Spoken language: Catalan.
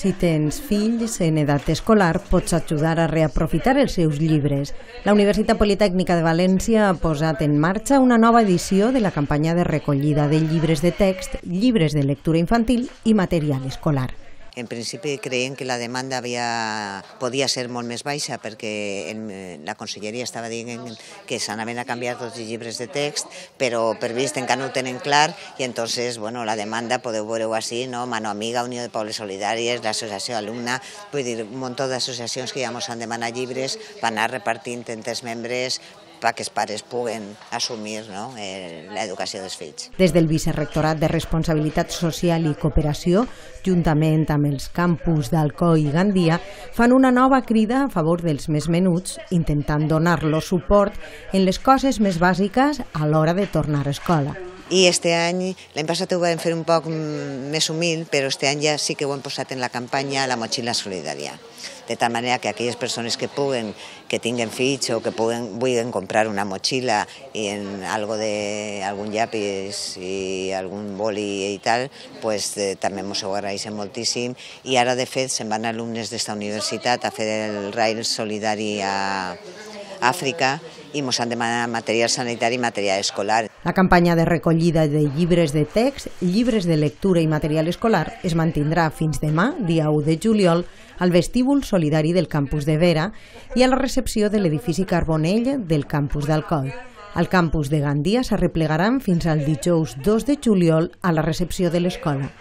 Si tens fills en edat escolar, pots ajudar a reaprofitar els seus llibres. La Universitat Politècnica de València ha posat en marxa una nova edició de la campanya de recollida de llibres de text, llibres de lectura infantil i material escolar. En principi creiem que la demanda podia ser molt més baixa perquè la conselleria estava dient que s'anaven a canviar tots els llibres de text, però per vist encara no ho tenen clar i entonces la demanda podeu veure-ho així, Mano Amiga, Unió de Pobles Solidàries, l'Associació Alumna, vull dir, un munt d'associacions que ja ens han demanat llibres per anar repartint entre els membres perquè els pares puguen assumir l'educació dels fills. Des del Vicerrectorat de Responsabilitat Social i Cooperació, juntament amb els campus d'Alcoi i Gandia, fan una nova crida a favor dels més menuts, intentant donar-los suport en les coses més bàsiques a l'hora de tornar a escola. I l'any passat ho vam fer un poc més humil, però este any ja sí que ho hem posat en la campanya la motxilla solidària. De tal manera que aquelles persones que tinguen fills o que vulguin comprar una motxilla i en algun llapis i algun boli i tal, pues també ens ho agraeixen moltíssim. I ara, de fet, se'n van alumnes d'esta universitat a fer el rail solidari a Àfrica i ens han demanat material sanitari i material escolar. La campanya de recollida de llibres de text, llibres de lectura i material escolar es mantindrà fins demà, dia 1 de juliol, al vestíbul solidari del campus de Vera i a la recepció de l'edifici Carbonell del campus d'Alcoi. Al campus de Gandia s'arreplegaran fins al dijous 2 de juliol a la recepció de l'escola.